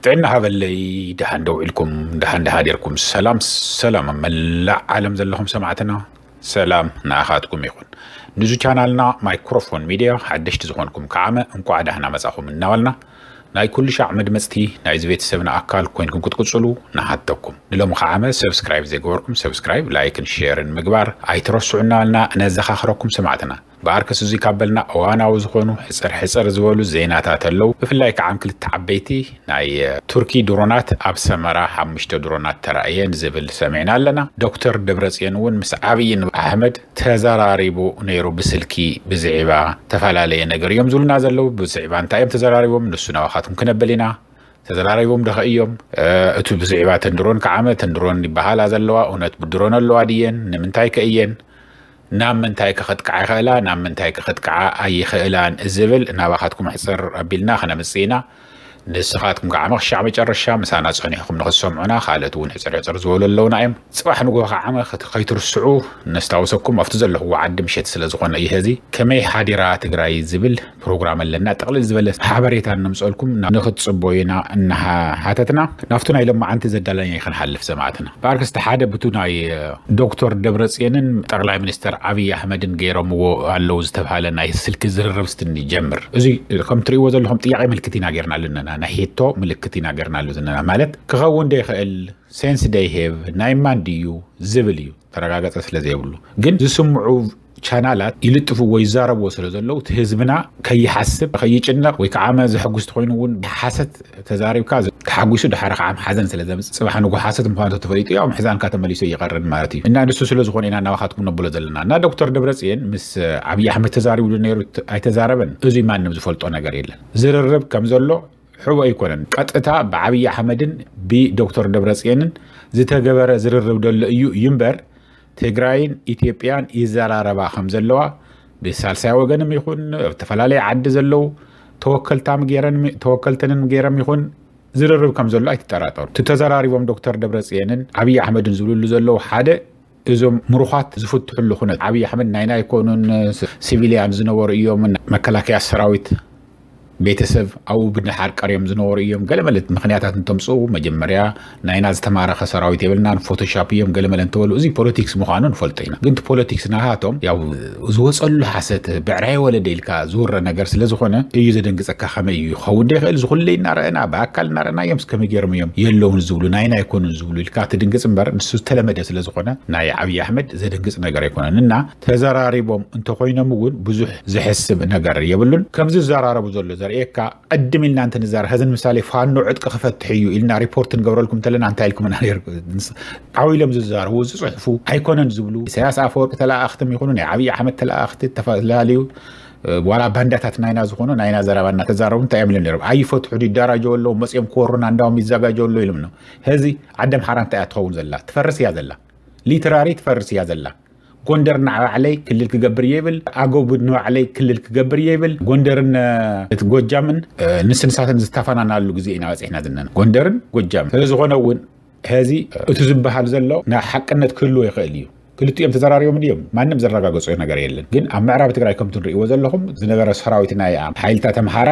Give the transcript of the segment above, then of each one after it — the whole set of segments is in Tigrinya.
ጥዕና ሃበለይ። ደሓን ደው ኢልኩም፣ ደሓን ደሃዲርኩም። ሰላም ሰላም፣ ኣብ መላእ ዓለም ዘለኹም ሰማዕትና፣ ሰላም ንኣኻትኩም ይኹን። ንዙ ቻናልና ማይክሮፎን ሚድያ ሓደሽቲ ዝኾንኩም ከዓመ እንቋዕ ዳህና መጻኹም እናበልና፣ ናይ ኩሉ ሻዕ መድመጽቲ ናይዚ ቤተሰብና ኣካል ኮይንኩም ክትቅጽሉ ንሓተኩም። ንሎሚ ከዓመ ሰብስክራይብ ዘይገበርኩም ሰብስክራይብ፣ ላይክን ሼርን ምግባር ኣይትረስዑ እናበልና ነዘኻኽረኩም ሰማዕትና። ብኣርከስ እዙይ ካብ በልና እዋናዊ ዝኾኑ ሕጽር ሕጽር ዝበሉ ዜናታት ኣለዉ። ብፍላይ ከዓም ክልተ ዓበይቲ ናይ ቱርኪ ድሮናት ኣብ ሰመራ ሓሙሽተ ድሮናት ተራእየን ዝብል ሰሚዕና ኣለና። ዶክተር ደብረጽዮን እውን ምስ ዓብይን ኣሕመድ ተዘራሪቡ ነይሩ ብስልኪ ብዝዒባ ተፈላለየ ነገር እዮም ዝብሉና ዘለዉ። ብዝዒባ እንታይ እዮም ተዘራሪቦም ንሱ ናባኻትኩም ክነብል ኢና። ተዘራሪቦም ደኸ እዮም እቲ ብዝዒባ ተንድሮን ከዓመ ተንድሮን ይበሃላ ዘለዋ እውነት ብድሮን ኣለዋ ድየን ንምንታይ ከ እየን ናብ ምንታይ ከኸጥቅዓ ይኽእላ ናብ ምንታይ ከኸጥቅዓ ኣይኽእላን ዝብል ናባኻትኩም ሕፅር ኣቢልና ክነምፅእ ኢና። ንስኻትኩም ከዓ መኽሻዕ መጨረሻ ምሳና ፀኒሕኩም ንኽትሰምዑና ካልኦት እውን ሕፅር ሕፅር ዝበሉ ኣለውና እዮም። ፅባሕ ንግሆ ከዓመ ከይትርስዑ ነስታውሰኩም ኣብቲ ዘለኹዎ ዓዲ ምሸት ስለ ዝኾነ እዩ። ሀዚ ከመይ ሓዲራ ትግራይ ዝብል ፕሮግራም ኣለና። ጥቕልል ዝበለ ሓበሬታ እነምፀልኩም ንኽትፅበዩና እናሓተትና ናብቲ ናይ ለማዓንቲ ዘዳለና ይክንሓልፍ ሰማዕትና። ብኣርከስቲ ሓደ ብቱ ናይ ዶክተር ደብረፅየንን ጠቕላይ ሚኒስተር ኣብይ ኣሕመድን ገይሮምዎ ኣለዉ ዝተብሃለ ናይ ስልኪ ዝርርብ ስትኒ ጀምር። እዚ ከም ትርእይዎ ዘለኹም ጥያቄ ምልክት ኢና ገይርና ኣለና። ናይ ሄቶ ምልክት ኢና ገይርና ኣሎ ዘለና ማለት ክኸውን ዶ ይኽእል ሴንስ ዶ ይህብ ናይ ማን ድዩ ዝብል እዩ። ተረጋገጸ ስለ ዘይብሉ ግን ዝስምዑ ቻናላት ይልጥፍዎ ይዛረብዎ ስለ ዘለዉ እቲ ህዝብና ከይሓስብ ከይጭነቕ ወይ ከዓ መ ዘሐጉስ ተኮይኑ እውን ሓሰት ተዛሪብካ ተሓጒሱ ድሓረ ከዓ ሓዘን ስለ ዘምፅእ ፅባሕ ንጎ ሓሰት ምኳኑ ተፈሊጡ ያው ምሕዛንካ ተመሊሱ ይቐርን ማለት እዩ። እና ንሱ ስለ ዝኾነ ኢና እናባኻትኩም ነብሎ ዘለና እና ዶክተር ደብረፅየን ምስ ኣብይ ኣሕመድ ተዛሪቡ ነይሩ ኣይተዛረበን እዙይ ማንም ዝፈልጦ ነገር የለን። ዝርርብ ከም ዘሎ ሕቦ ኣይኮነን። ቀጥታ ብዓብይ ኣሕመድን ብዶክተር ደብረፅየንን ዝተገበረ ዝርርብ ደሎ እዩ እዩ እምበር ትግራይን ኢትዮጵያን ይዘራረባ ከም ዘለዋ ብሳልሳይ ወገንም ይኹን ኣብ ዝተፈላለየ ዓዲ ዘለዉ ተወከልታም ገይረን ተወከልትንን ገይሮም ይኹን ዝርርብ ከም ዘሎ ኣይትጠራጠሩ። እቲ ተዘራሪቦም ዶክተር ደብረፅየንን ኣብይ ኣሕመድን ዝብልሉ ዘለዉ ሓደ እዞም ምሩኻት ዝፍትሕሉ ኩነት ኣብይ ኣሕመድ ናይና ኣይኮኑን። ሲቪልያን ዝነበሩ እዮም። መከላከያ ሰራዊት ቤተሰብ ኣብኡ ብድሓር ቀርዮም ዝነበሩ እዮም። ገለመለት ምክንያታት እንተምፅኡ መጀመርያ ናይና ዝተማረኸ ሰራዊት የብልናን ፎቶሻፕ እዮም ገለመለ እንተበሉ እዚ ፖለቲክስ ምዃኑ ንፈልጦ ኢና። ግን እቲ ፖለቲክስ ናሃቶም ያው ዝወፀሉ ሓሰት ብዕራይ ወለደ ኢልካ ዝውረ ነገር ስለ ዝኾነ እዩ ዘደንግፀካ። ከመይ እዩ ይኸውን ዶ ይኽእል? ዝኹለ እናረአና ብኣካል እናረአና እዮም እስከመይ ገይሮም እዮም የለውን ዝብሉ ናይና ኣይኮኑን ዝብሉ ኢልካ ትድንግፅ እምበር ንሱ ዝተለመደ ስለ ዝኾነ ናይ ዓብዪ ኣሕመድ ዘደንግፅ ነገር ኣይኮነን። እና ተዘራሪቦም እንተኮይኖም እውን ብዙሕ ዘሕስብ ነገር የብሉን። ከምዚ ዝዘራረቡ ዘሎ ዘርእየካ ቅድም ኢልና እንተ ንዛረብ፣ ሐዚ ንምሳሌ ፋኖ ዕጥቂ ክፈትሕ እዩ ኢልና ሪፖርት ንገብረልኩም እንተለና እንታይ ኢልኩምና ነይርኩም? ዓው ኢሎም ዝዛረቡ ዝፅሕፉ ኣይኮነን ዝብሉ ኢሳያስ ኣፈወርቂ ተለኣኣኽትም ይኹኑ ናይ ዓብዪ ኣሕመድ ተለኣኣኽቲ ዝተፈላለዩ ዋላ ባንዳታት ናይና ዝኾኑ ናይና ዘረባ እናተዛረቡ እንታይ እዮም ኢሎም ነይሮም? ኣይፈትሑ ይዳራጀው ኣለዉ መፅኦም ክወሩና እንዳውም ይዘጋጀው ኣለዉ ኢሎም ነው። ሐዚ ዓደም ሓራ እንታይ እያ ትኸውን ዘላ? ትፈርስ እያ ዘላ። ሊትራሪ ትፈርስ እያ ዘላ። ጎንደር ንባዕለይ ክልል ክገብር እየ ይብል። ኣጎብ ንባዕለይ ክልል ክገብር እየ ይብል። ጎንደርን እቲ ጎጃምን ንስንሳትን ዝተፈናናሉ ግዜ ኢና በፂሕና ዘለና ጎንደርን ጎጃምን። ስለዝኾነ እውን ሐዚ እቲ ዝበሃል ዘሎ ናይ ሓቅነት ክህልዎ ይኽእል እዩ። ክልቲኦም ተዘራሪቦም ድዮም? ማንም ዘረጋገጾ ነገር የለን። ግን ኣብ ምዕራብ ትግራይ ከምቲ ንርእይዎ ዘለኹም ዝነበረ ሰራዊት ናይ ሓይልታት ኣምሓራ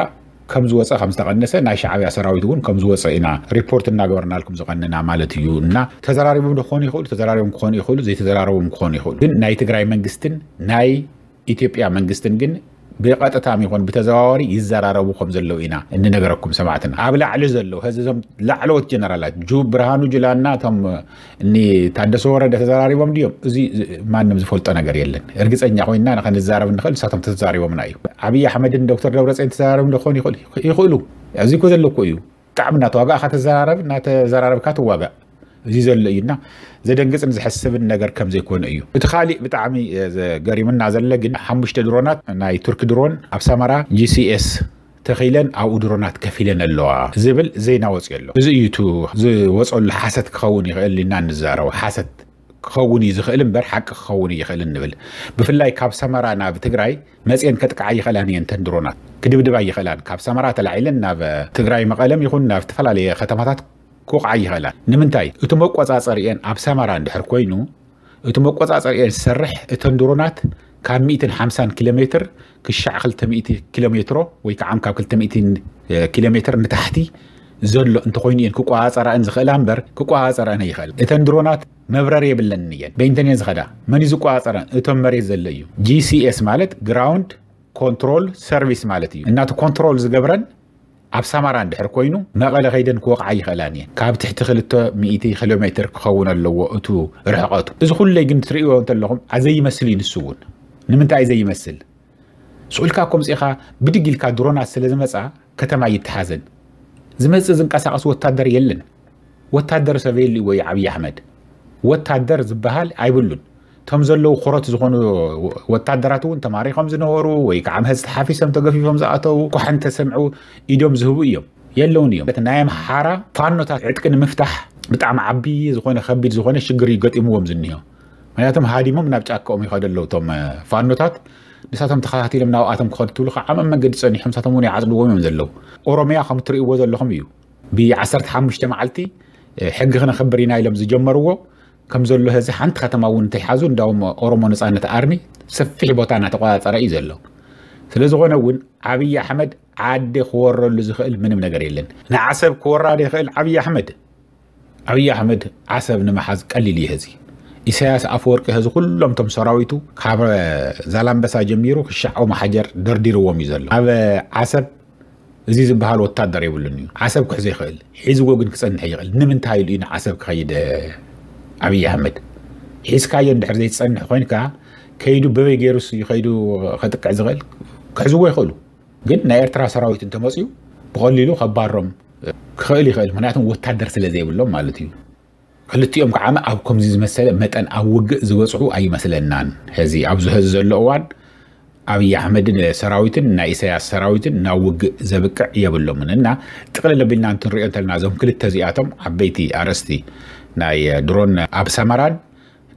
ከም ዝወፀ ከም ዝተቐነሰ ናይ ሻዕብያ ሰራዊት እውን ከም ዝወፀ ኢና ሪፖርት እናገበርናልኩም ዝቐነና ማለት እዩ። እና ተዘራሪቦም ዶ ክኾኑ ይኽእሉ? ተዘራሪቦም ክኾኑ ይኽእሉ፣ ዘይተዘራረቦም ክኾኑ ይኽእሉ። ግን ናይ ትግራይ መንግስትን ናይ ኢትዮጵያ መንግስትን ግን ብቐጥታም ይኹን ብተዘዋዋሪ ይዘራረቡ ከም ዘለዉ ኢና እንነገረኩም ሰማዕትና። ኣብ ላዕሊ ዘለዉ ላዕለዎት ጀነራላት ጁ ብርሃኑ ጁላና እቶም እኒ ታደሰ ወረደ ተዘራሪቦም ድዮም? እዚ ማንም ዝፈልጦ ነገር የለን። እርግፀኛ ኮይንና ንኸንዛረብ ንኽእል ንሳቶም ተዛሪቦምና እዩ። ዓብዪ ኣሕመድን ዶክተር ደብረፅዮን ተዘራሪቦም ዶ ክኾኑ ይኽእሉ? ይኽእሉ። እዚ እኮ ዘሎ እኮ እዩ። ብጣዕሚ እናተዋጋእካ ተዘራረብ እናተዘራረብካ ትዋጋእ። እዚ ዘሎ እዩና ዘደንግፅን ዘሕስብን ነገር ከም ዘይኮነ እዩ። እቲ ካሊእ ብጣዕሚ ዘገሪምና ዘለ ግን ሓሙሽተ ድሮናት ናይ ቱርኪ ድሮን ኣብ ሰመራ ጂ ሲ ኤስ ተኺለን ኣብኡ ድሮናት ከፊለን ኣለዋ ዝብል ዜና ወፂኡ ኣሎ። እዚ እዩ እቲ ዝወፀሉ ሓሰት ክኸውን ይኽእል ኢና እንዛረቦ። ሓሰት ክኸውን እዩ ዝኽእል እምበር ሓቂ ክኸውን ይኽእል እንብል። ብፍላይ ካብ ሰመራ ናብ ትግራይ መፅየን ከጥቅዓ ይኽእላን እየን። ተን ድሮናት ክድብድባ ይኽእላን ካብ ሰመራ ተላዒለን ናብ ትግራይ መቐለም ይኹን ናብ ዝተፈላለየ ከተማታት ክወቕዓ ይኽእላን። ንምንታይ እቲ መቆፃፀሪአን ኣብ ሰመራ እንድሕር ኮይኑ እቲ መቆፃፀሪአን ዝሰርሕ እተን ድሮናት ካብ ሚእትን ሓምሳን ኪሎ ሜትር ክሻዕ ክልተ ሚእቲ ኪሎ ሜትሮ ወይ ከዓ ካብ ክልተ ሚእቲ ኪሎ ሜትር ንታሕቲ ዘሎ እንተኾይኑ እየን ክቆፃፀራእን ዝኽእላ እምበር ክቆፃፀራእን ኣይኽእል። እተን ድሮናት መብረር የብለንን እየን። በይንተን እየን ዝኸዳ። መን እዩ ዝቆፃፀረን? እቶም መሬት ዘሎ እዩ። ጂሲኤስ ማለት ግራውንድ ኮንትሮል ሰርቪስ ማለት እዩ። እናቲ ኮንትሮል ዝገብረን ኣብ ሰማራ እንድሕር ኮይኑ መቐለ ከይደን ክወቕዓ ይኽእላን እየን። ካብ ትሕቲ ክልተ ሚእቲ ኪሎ ሜትር ክኸውን ኣለዎ እቱ ርሕቐቱ። እዚ ኩለይ ግን ትርእይዎ እንተለኹም ኣዘይመስል እዩ። ንሱ እውን ንምንታይ እዩ ዘይመስል? ስቑልካ ኮምፂኻ ብድግ ኢልካ ድሮናት ስለ ዝመፃ ከተማ ይተሓዘን። ዝመፅእ ዝንቀሳቐስ ወታደር የለን። ወታደር ሰብ የሉ ወይ ዓብዪ ኣሕመድ? ወታደር ዝበሃል ኣይብሉን። እቶም ዘለዉ ኮረት ዝኾኑ ወታደራት እውን ተማሪኾም ዝነበሩ ወይ ከዓ ምህዝ ተሓፊሶም ተገፊፎም ዝኣተዉ፣ ኳሕን ተሰምዑ ኢዶም ዝህቡ እዮም። የለውን እዮም። ናይ ኣምሓራ ፋኖታት ዕጥቂ ንምፍታሕ ብጣዕሚ ዓብዪ ዝኾነ ከቢድ ዝኾነ ሽግር እዩ ገጢምዎም ዝኒሆ። ምክንያቱም ሃዲሞም ናብ ጫካኦም ይኸዱ ኣለዉ እቶም ፋኖታት። ንሳቶም ተኸታቲሎም ናብኣቶም ክኸዱ ትብሉ ከዓ ኣብ መንገዲ ጸኒሖም ንሳቶም እውን ይዓጽድዎም እዮም ዘለዉ። ኦሮሚያ ከም እትርእይዎ ዘለኹም እዩ። ብዓሰርተ ሓሙሽተ መዓልቲ ሕጊ ክነኽብር ኢና ኢሎም ዝጀመርዎ ከም ዘሎ ህዚ ሓንቲ ከተማ እውን እንተይሓዙ እንዳውም ኦሮሞ ነጻነት ኣርሚ ሰፊሕ ቦታ እናተቆጻጸረ እዩ ዘሎ። ስለ ዝኾነ እውን ዓብዪ ኣሕመድ ዓዲ ክወረሉ ዝኽእል ምንም ነገር የለን። ንዓሰብ ክወራ ዶ ይኽእል ዓብዪ ኣሕመድ? ዓብዪ ኣሕመድ ዓሰብ ንምሓዝ ቀሊል እዩ። ህዚ ኢሳያስ ኣፈወርቂ ህዚ ኩሎም ቶም ሰራዊቱ ካብ ዛላምበሳ ጀሚሩ ክሻዕ ኦም ሓጀር ደርዲርዎም እዩ ዘሎ። ኣብ ዓሰብ እዚ ዝበሃል ወታደር የብሉን እዩ። ዓሰብ ክሕዞ ይኽእል፣ ሒዝዎ ግን ክጸንሕ ይኽእል። ንምንታይ ኢሉ እዩ ንዓሰብ ክኸይድ ዓብዪ ኣሕመድ? ሒዝካዮ እንድሕር ዘይትጸንሕ ኮይንካ ከይዱ በበይ ገይሩስ እዩ ከይዱ ከጥቅዕ ዝኽእል? ክሕዝዎ ይኽእሉ። ግን ናይ ኤርትራ ሰራዊት እንተመፅዩ ብቐሊሉ ከባሮም ክኽእል ይኽእል። ምክንያቱም ወታደር ስለ ዘይብሎም ማለት እዩ። ክልቲኦም ከዓ ኣብ ከምዚ ዝመሰለ መጠን ኣብ ውግእ ዝበፅሑ ኣይመስለናን። ሕዚ ኣብዚ ሕዚ ዘሎ እዋን ኣብይ ኣሕመድን ሰራዊትን ናይ ኢሳያስ ሰራዊትን ናብ ውግእ ዘብቅዕ የብሎምን። እና ጥቕልል ኣቢልና እንትንሪኦ እንተለና እዞም ክልተ እዚኣቶም ዓበይቲ ኣርእስቲ ናይ ድሮን ኣብ ሰመራን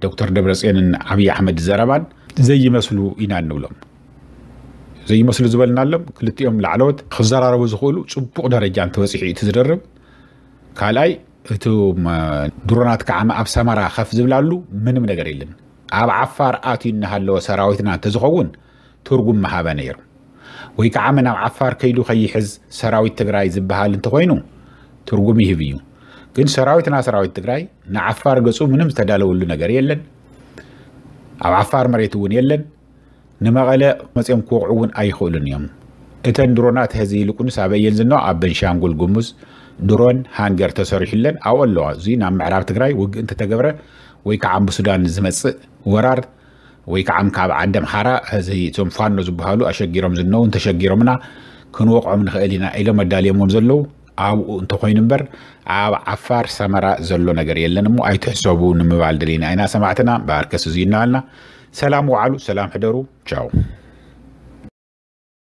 ዶክተር ደብረፅዮንን ኣብይ ኣሕመድ ዘረባን ዘይመስሉ ኢና እንብሎም። ዘይመስሉ ዝበልናሎም ክልቲኦም ላዕለዎት ክዘራረቡ ዝኽእሉ ፅቡቕ ደረጃ እንተበፂሑ እዩ እቲ ዝደርብ። ካልኣይ እቶም ድሮናት ከዓ ኣብ ሰመራ ከፍ ዝብላሉ ምንም ነገር የለን። ኣብ ዓፋር ኣትዩ እናሃለወ ሰራዊትና እንተዝኸውን ትርጉም ምሃበ ነይሩ። ወይ ከዓ መን ኣብ ዓፋር ከይዱ ከይሕዝ ሰራዊት ትግራይ ዝበሃል እንተኾይኑ ትርጉም ይህብ እዩ። ግን ሰራዊትና ሰራዊት ትግራይ ንዓፋር ገፁ ምንም ዝተዳለወሉ ነገር የለን። ኣብ ዓፋር መሬት እውን የለን። ንመቐለ መፅኦም ክወቕዑ እውን ኣይኽእሉን እዮም። እተን ድሮናት ሕዚ ይልቁንስ ኣበይ እየን ዝነዋ? ኣብ በንሻንጉል ጉሙዝ ድሮን ሃንገር ተሰሪሑለን ኣብኡ ኣለዋ። እዚ ናብ ምዕራብ ትግራይ ውግእ እንተተገብረ ወይ ከዓ ብሱዳን ዝመፅእ ወራር ወይ ከዓ ካብ ዓዲ ኣምሓራ ሕዚ እቶም ፋኖ ዝበሃሉ ኣሸጊሮም ዝነው እንተሸጊሮምና ክንወቕዖም ንኽእል ኢና ኢሎም ኣዳልዮምዎም ዘለዉ ኣብኡ እንተኾይኑ እምበር ኣብ ዓፋር ሰመራ ዘሎ ነገር የለን እሞ ኣይትሕሰቡ ንምባል ደሊና ኢና ሰማዕትና። በኣርከስ እዚ እናበልና ሰላም ወዓሉ፣ ሰላም ሕደሩ። ቻው።